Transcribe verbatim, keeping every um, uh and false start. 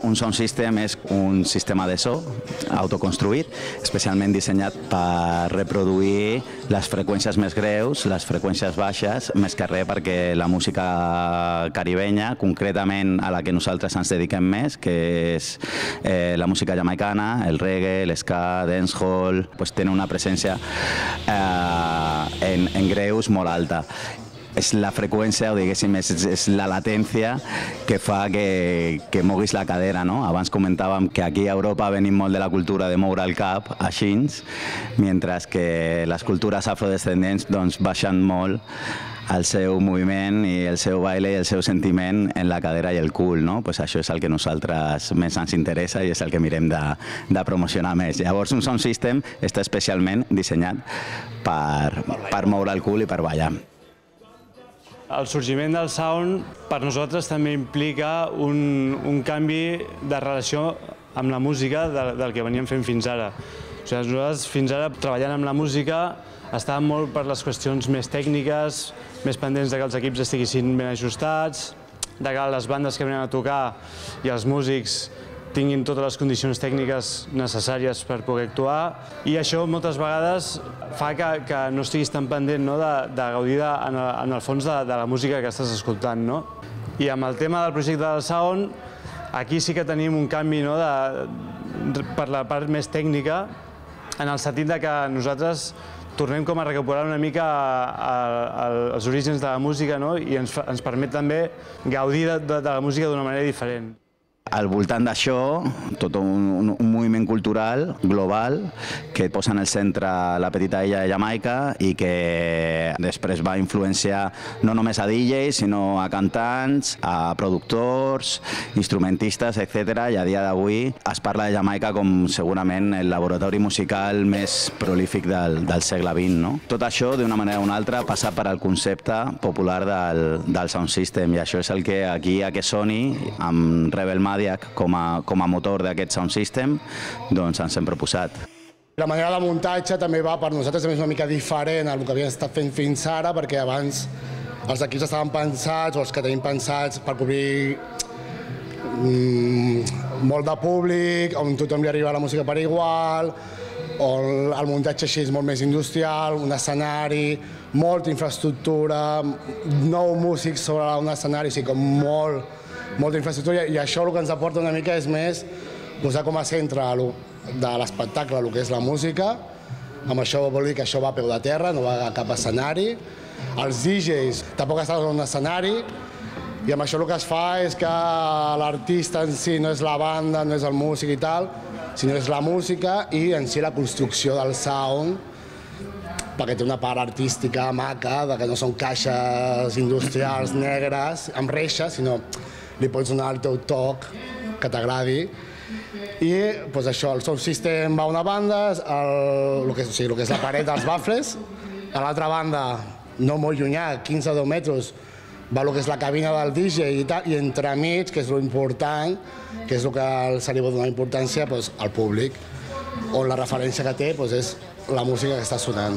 Un sound system és un sistema de so autoconstruït, especialment dissenyat per reproduir les freqüències més greus, les freqüències baixes, més que res perquè la música caribenya, concretament a la que nosaltres ens dediquem més, que és eh, la música jamaicana, el reggae, l'ska, dancehall, pues, tenen una presència eh, en, en greus molt alta. És la freqüència, o diguéssim, és, és la latència que fa que, que moguis la cadera, no? Abans comentàvem que aquí a Europa venim molt de la cultura de moure el cap, així, mentre que les cultures afrodescendents doncs, baixen molt el seu moviment i el seu baile i el seu sentiment en la cadera i el cul, no? Pues això és el que a nosaltres més ens interessa i és el que mirem de, de promocionar més. Llavors, un sound system està especialment dissenyat per, per moure el cul i per ballar. El sorgiment del sound per nosaltres també implica un, un canvi de relació amb la música del, del que veníem fent fins ara. O sigui, nosaltres fins ara treballant amb la música estàvem molt per les qüestions més tècniques, més pendents de que els equips estiguessin ben ajustats, de que les bandes que venen a tocar i els músics tinguin totes les condicions tècniques necessàries per poder actuar, i això moltes vegades fa que, que no estiguis tan pendent, no, de, de gaudir de, en, el, en el fons de, de la música que estàs escoltant. No? I amb el tema del projecte del sound, aquí sí que tenim un canvi, no, de, per la part més tècnica, en el sentit de que nosaltres tornem com a recuperar una mica a, a, els orígens de la música, no? I ens, ens permet també gaudir de, de, de la música d'una manera diferent. Al voltant d'això, tot un, un, un moviment cultural global que posa en el centre la petita illa de Jamaica i que després va influenciar no només a D Js, sinó a cantants, a productors, instrumentistes, etcètera. I a dia d'avui es parla de Jamaica com segurament el laboratori musical més prolífic del, del segle vint. No? Tot això, d'una manera o una altra, passa per al concepte popular del, del sound system, i això és el que aquí a Sony, amb Rebel Madiak com a, com a motor d'aquest sound system, doncs ens hem proposat. La manera de muntatge també va per nosaltres és una mica diferent al que havíem estat fent fins ara, perquè abans els equips estaven pensats, o els que tenim pensats, per cobrir mmm, molt de públic, on tothom li arriba la música per igual, on el muntatge així és molt més industrial, un escenari, molta infraestructura, nou músics sobre un escenari, o sigui, com molt, molta infraestructura, i això el que ens aporta una mica és més posar com a centre de l'espectacle el que és la música. Amb això vol dir que això va a peu de terra, no va a cap escenari. Els D Js tampoc estan en un escenari, i amb això el que es fa és que l'artista en si no és la banda, no és el músic i tal, sinó és la música i en si la construcció del sound, perquè té una part artística maca, que no són caixes industrials negres amb reixes, sinó li pots donar el teu toc que t'agradi. I doncs això, el sound system va a una banda, el, el, que, o sigui, el que és la paret dels baffles, a l'altra banda, no molt llunyà, quinze o deu metres, va el que és la cabina del D J i tal, i entremig, que és l'important, que és el que se li pot donar importància doncs, al públic, on la referència que té doncs, és la música que està sonant.